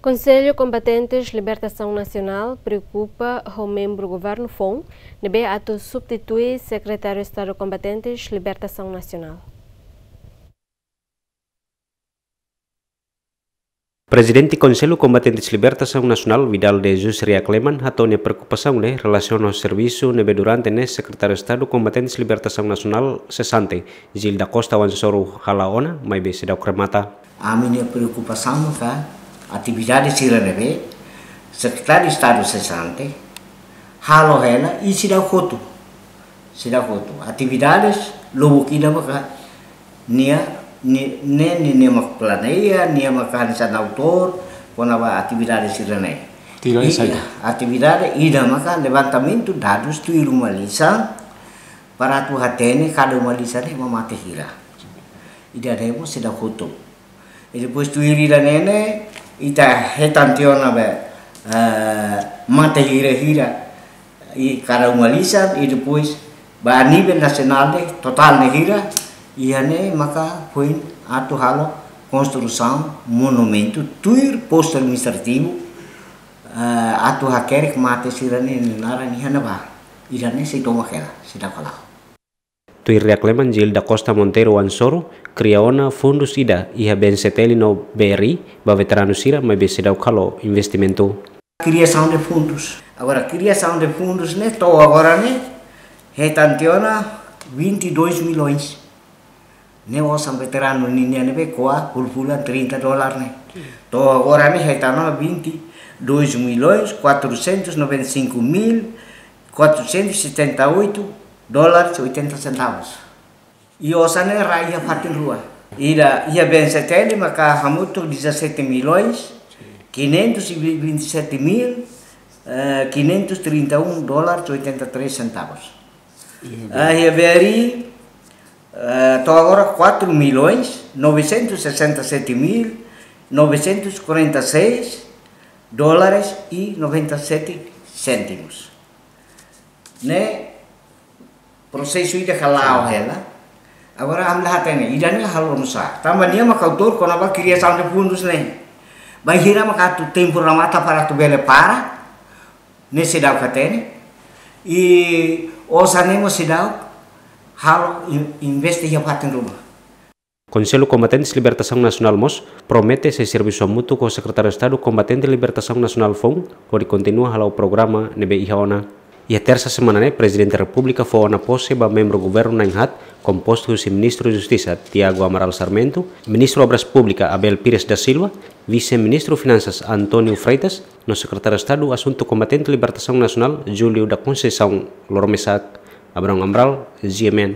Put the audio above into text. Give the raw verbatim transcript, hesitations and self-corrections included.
Konsellu Kombatentes Libertasaun Nasionál preokupa ho membru governu foun ne'ebé atu substitui Sekretáriu Estadu Kombatentes Libertasaun Nasionál. Prezidente Konsellu Kombatentes Libertasaun Nasionál, Vidal de Jesus Riakleman, hato'o nia preokupasaun ne'e relasiona ho servisu ne'ebé durante ne'e Sekretáriu Estadu Kombatentes Libertasaun Nasionál sesante, Gil da Costa Wansoru, hala'o ona, maibé seidauk remata. Ami-nia preokupasaun maka atividade sira ne'ebé Sekretáriu Estadu sesante halo hela i seidauk hotu. Seidauk hotu. Atividades lubuk ida maka nia, ni-, ne'e, nia, nia mak planeia, nia mak hanesan autór kona-ba atividade sira-ne'e. Tira i saida? Atividade ida maka levantamentu dadus tuir uma-lisan, para atu hatene kada uma-lisan ne'e ema mate hira. Ida-ne'e mós seidauk hotu. I depois tuir ida-ne'e ne'e, ita hetan tiha ona be, eh, mate hira-hira. I kada uma-lisan, i depois ba nivel nasionál ne'e, totál ne'e hira, iha ne'e maka foin atu halo konstrusaun monumentu tuir postu administrativu, eh, atu hakerek mate sira-ne'e nia naran iha ne'ebá. Ida-ne'e sei tomak hela, seidauk hala'o. Tuir Riakleman, Gil da Costa Monteiro Wansoru, kria ona fundus ida iha B N C T L no B R I ba veteranu sira, maibé seidauk halo investimentu. Criação de fundos. Agora, criação de fundos ne'e to'o agora ne'e hetan tiha ona vinte e dois milhões. Ne'e osan veteranu ninian ne'ebé ko'a fulan-fulan trinta dólar ne'e. To'o agora ne'e hetan ona vinte e dois milhões quatrocentos noventa e cinco mil quatrocentos e setenta e oito dólares e oitenta centavos. I osan ne'e rai iha fatin rua. Ida iha B N C T L maka hamutuk dezassete milhões quinhentos e vinte e sete mil, eh, quinhentos e trinta e um dólares e oitenta e três centavos. Iha B R I, eh, to'o agora quatro milhões novecentos e sessenta e sete mil novecentos e quarenta e seis dólares e noventa e sete cêntimos. Ne'e prosesu ida hala'o hela. Agora ami la hatene, ida-ne'e halo nusá. Tanba nia maka autór kona-ba criação de fundos ne'e. Bainhira maka atu tempu remata para atu bele para, ne'e seidauk hatene. I osan ne'e mós seidauk halo in-, investe iha fatin ruma. Konsellu Kombatentes Libertasaun Nasionál mós promete sei servisu hamutuk ho Sekretáriu Estadu Kombatente Libertasaun Nasionál foun, hodi kontinua hala'o programa ne'ebé iha ona. Iha tersa semana ne'e, Prezidente Repúblika fó ona pose ba membru governu na'in-haat, kompostu husi Ministru Justisa, Tiago Amaral Sarmento, Ministru Obras Públikas, Abel Pires da Silva, Vise-Ministru Finansas, António Freitas, no Sekretáriu Estadu Asuntu Kombatente Libertasaun Nasionál, Júlio da Conceição. Loro-mesak, Abrão Amaral, G M N.